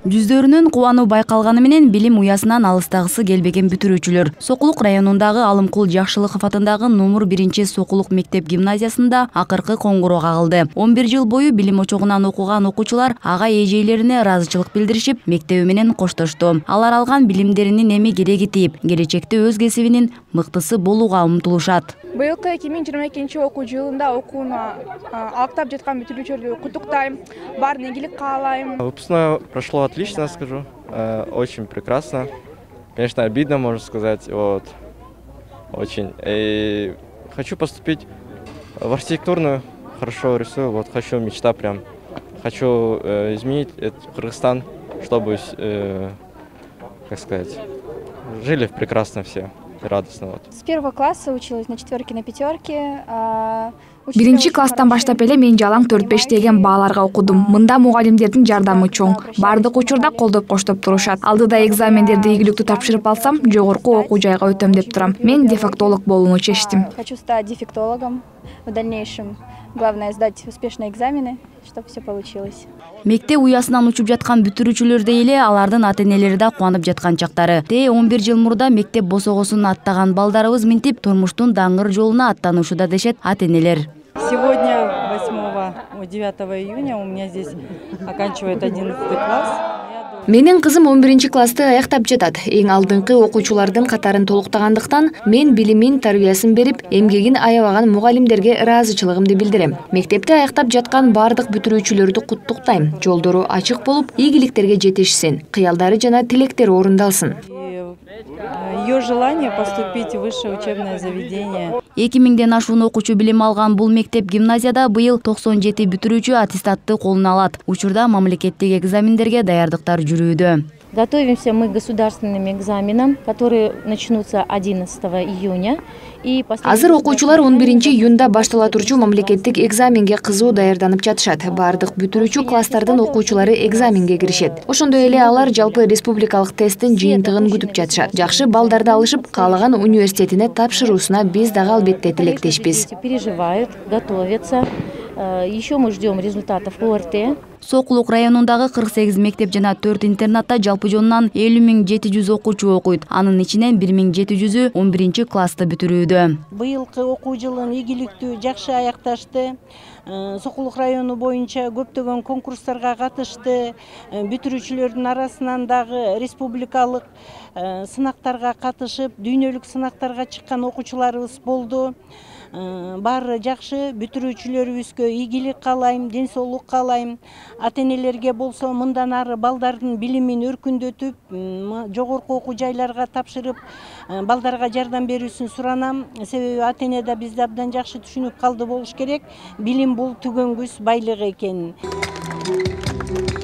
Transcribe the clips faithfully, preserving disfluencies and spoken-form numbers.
Жүздөрүнүн кубануу байкалганы менен билим уясынан алыстагысы келбеген бүтүрүүчүлөр Сокулук районундагы Алымкул Жакшылыков атындагы номер биринчи Сокулук мектеп гимназиясында акыркы коңгуроо кагылды. он бир жыл бою билим очогунан окуган окуучулар ага эжейлерине ыраазычылык билдиришип, мектеби менен коштошту. Алар алган билимдеринин эми кереги тийип, келечекте өз кесибинин мыктысы болууга умтулушат. Быйылкы эки миң жыйырма экинчи окуу жылында окууну алктап жаткан бүтүрүүчүлөрдү куттуктайм. Баарын ийгилик каалайм. Выпускное прошло отлично, скажу. Очень прекрасно. Конечно, обидно, можно сказать. Вот. Очень. И хочу поступить в архитектурную. Хорошо рисую. Вот хочу, мечта прям. Хочу э, изменить этот Кыргызстан, чтобы, э, как сказать, жили прекрасно все. Радостно. Вот. С первого класса училась на четверке, на пятерке. Биринчи класстан баштап эле мен жалаң төрт беш деген бааларга окудум. Мында мугалимдердин жардамы чоң. Бардык учурда колдоп коштоп турушат. Алдыда экзамендерди ийгиликтүү тапшырып алсам, жогорку окуу жайга өтөм деп турам. Мен дефектолог болууну чечтим. Хочу стать дефектологом в дальнейшем. Главное сдать успешно экзамены, чтобы все получилось. Мектеп уясынан учуп жаткан бүтүрүүчүлөрдөй эле алардын ата-энелери да кубанып жаткан чактары. Те он бир жыл мурда мектеп босогосун аттаган балдарыбыз минтип турмуштун даңгыр жолуна аттанышууда дешет ата-энелер. Сегодня, восьмого девятого июня, у меня здесь оканчивает одиннадцатый класс. Менин кызым он биринчи классты аяктап жатат. Эң алдыңкы окуучулардын катарын толуктагандыктан мен билимин, тарбиясын берип, эмгегин аябаган мугалимдерге ыраазычылыгымды билдирем. Мектепти аяктап жаткан бардык бүтүрүүчүлөрдү куттуктайм. Жолдору ачык болуп, ийгиликтерге жетишсин, кыялдары жана тилектери орундалсын. Ее желание поступить в высшее учебное заведение. эки миңден ашуун окуучу билим алган бул мектеп гимназияда быйыл токсон жети бүтүрүүчү аттестатты колуна алат. Учурда мамлекеттик экзамендерге даярдыктар жүрүүдө. Готовимся мы к государственным экзаменам, которые начнутся одиннадцатого июня. Азыр окуучулар он биринчи июнда баштала турчу мамлекеттик экзаменге кызуу даярданып жатышат. Бардык бүтүрүүчү класстардын окуучулары экзаменге киришет. Ошондой эле алар жалпы республикалык тесттин жыйынтыгын күтүп жатышат. Жакшы балдарды алышып, каалаган университетине тапшыруусуна биз дагы албетте тилектешпиз. Переживают, готовятся. Еще мы ждем результатов о эр тэ. Сокулук районундагы кырк сегиз мектеп жана төрт интернатта жалпы жонунан элүү миң жети жүз окуучу окуйт. Анын ичинен бир миң жети жүзү он биринчи классты бүтүрүүдө. Быйылкы окуу жылын ийгиликтүү, жакшы аякташты. Сокулук району боюнча көптөгөн конкурстарга катышты. Бүтүрүүчүлөрдүн арасынан дагы республикалык сынактарга катышып, дүйнөлүк сынактарга чыккан окуучуларыбыз болду. Баары жакшы, бүтүрүүчүлөрүбүзгө ийгилик каалайм, ден соолук каалайм. Ата-энелерге болсо мындан ары балдардын билимин өркүндөтүп, жогорку окуу жайларга тапшырып, балдарга жардам берүүсүн суранам. Себеби ата-эне да бизди абдан жакшы түшүнүп калды болуш керек. Билим бул түгөнгүс байлык экенин.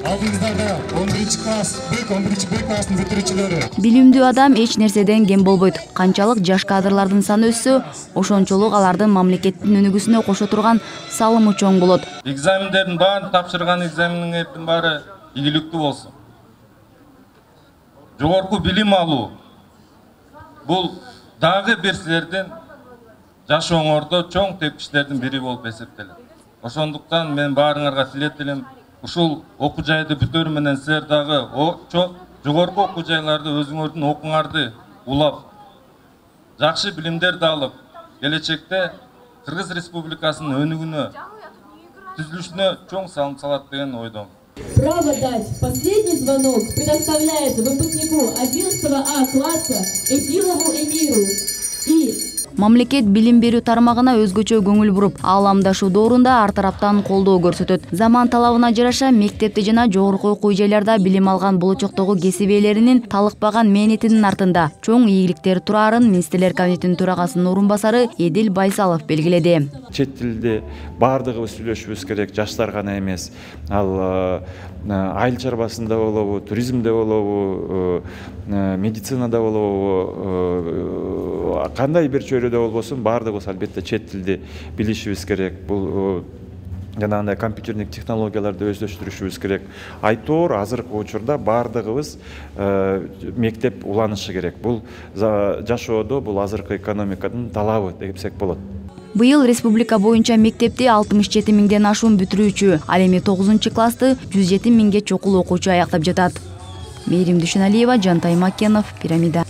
Алдыңыздарда он биринчи класс, он биринчи Б класстын бүтүрүүчүлөрү. Билимдүү адам эч нерседен кем болбойт. Канчалык жаш кадрлардын саны өссө, ошончолук алардын мамлекеттин өнүгүүсүнө кошо турган салымы чоң болот. Экзамендердин баарын тапшырган экзамендердин баары ийгиликтүү болсун. Жогорку билим алуу бул дагы бир силердин жашооңордо чоң тепкичтердин бири болуп эсептелет. Ошондуктан мен баарыңарга тилетелим. Ушул окуу жайды бүтөрү менен силер дагы жогорку окуу жайларды өзүңөрдүн окууңарды улап, жакшы билимдерди алып, келечекте Кыргыз Республикасынын өнүгүүнө, түзүлүшүнө чоң салым салат деген ойдомун. Право дать последний звонок предоставляется выпускнику одиннадцатого А класса Эдилову Эмиру. И Мамлекет билим берүү тармагына өзгөчө көңүл буруп, ааламдашуу доорунда ар тараптан колдоо көрсөтөт. Заман талабына жараша мектепте жана жогорку окуу жайларда билим алган болочоктогу кесип ээлеринин талыкпаган мээнетинин артында чоң ийгиликтер турарын Министрлер комитетинин төрагасынын орун басары Эдил Байсалов белгиледи. Чет тилде бардыгыбыз сүйлөшүбүз керек, жаштар гана эмес. Ал айыл чарбасында болобу, туризмде болобу, медицинада болобу, кандай бир чөйрөдө болбосун баардыгыбыз албетте чет тилди билишибиз керек. Бул жанагындай компьютердик технологияларды өздөштүрүшүбүз керек. Айтор азыркы учурда баардыгыбыз мектеп уланышы керек. Бул жашоодо бул азыркы экономиканын талабы десек болот. Быйыл республика боюнча мектепти алтымыш жети миңден ашуун бүтүрүүчү, ал эми тогузунчу классты жүз жети миңге чукул окуучу аяктап жатат. Мээрим Дүйшөналиева, Жантай Макенов, Пирамида.